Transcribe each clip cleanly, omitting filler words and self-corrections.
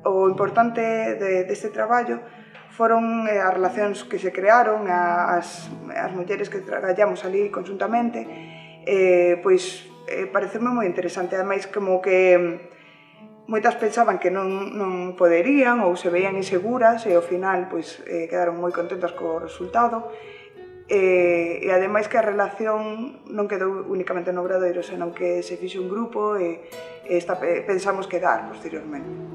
O importante deste traballo foron as relacións que se crearon, as mulleres que traballamos ali conjuntamente, pois pareceme moi interesante, ademais como que moitas pensaban que non poderían ou se veían inseguras e ao final pois quedaron moi contentas co resultado, e ademais que a relación non quedou únicamente no Obradoiro, senón que se fixo un grupo e pensamos quedar posteriormente.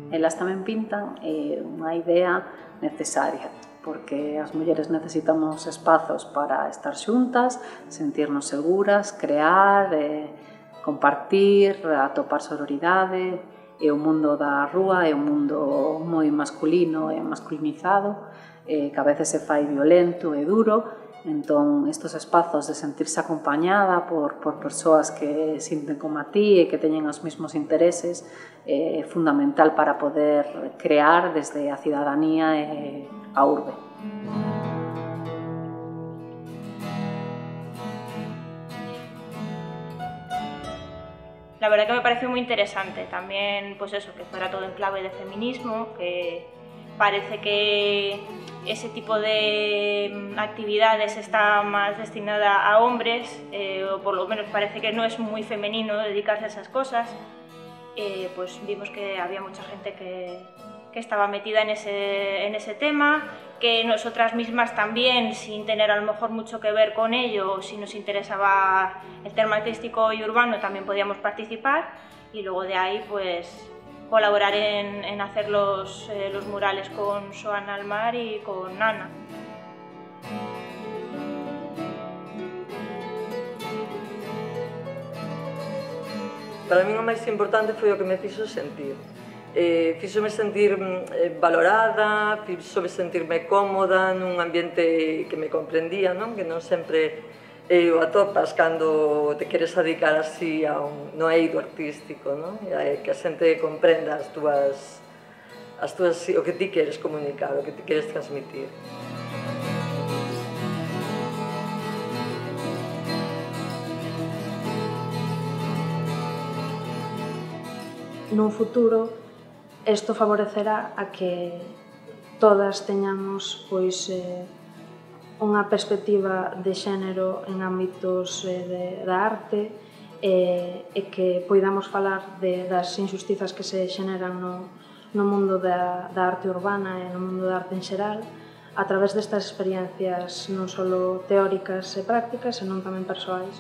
Elas tamén pintan unha idea necesaria, porque as mulleres necesitamos espazos para estar xuntas, sentirnos seguras, crear, compartir, atopar sororidade, e o mundo da rúa é un mundo moi masculino e masculinizado, que a veces se fai violento e duro. Entón, estes espazos de sentirse acompañada por persoas que sinten como a ti e que teñen os mesmos intereses é fundamental para poder crear desde a cidadanía e a urbe. La verdad que me parece muy interesante también, pues eso, que fuera todo en clave de feminismo, que parece que ese tipo de actividades está más destinada a hombres, o por lo menos parece que no es muy femenino dedicarse a esas cosas. Pues vimos que había mucha gente que estaba metida en ese tema, que nosotras mismas también, sin tener a lo mejor mucho que ver con ello, si nos interesaba el tema artístico y urbano, también podíamos participar, y luego de ahí pues colaborar en hacer los murales con Xoana Almar y con Ana. Para min o máis importante foi o que me fixo sentir. Fíxome sentir valorada, fíxome sentirme cómoda nun ambiente que me comprendía, non? Que non sempre o atopas cando te queres dedicar así no eido artístico, non? Que a xente comprenda o que ti queres comunicar, o que ti queres transmitir. Nun futuro, isto favorecerá a que todas teñamos pois unha perspectiva de xénero en ámbitos da arte e que poidamos falar das injustizas que se xeneran no mundo da arte urbana e no mundo da arte en xeral a través destas experiencias non só teóricas e prácticas, senón tamén persoais.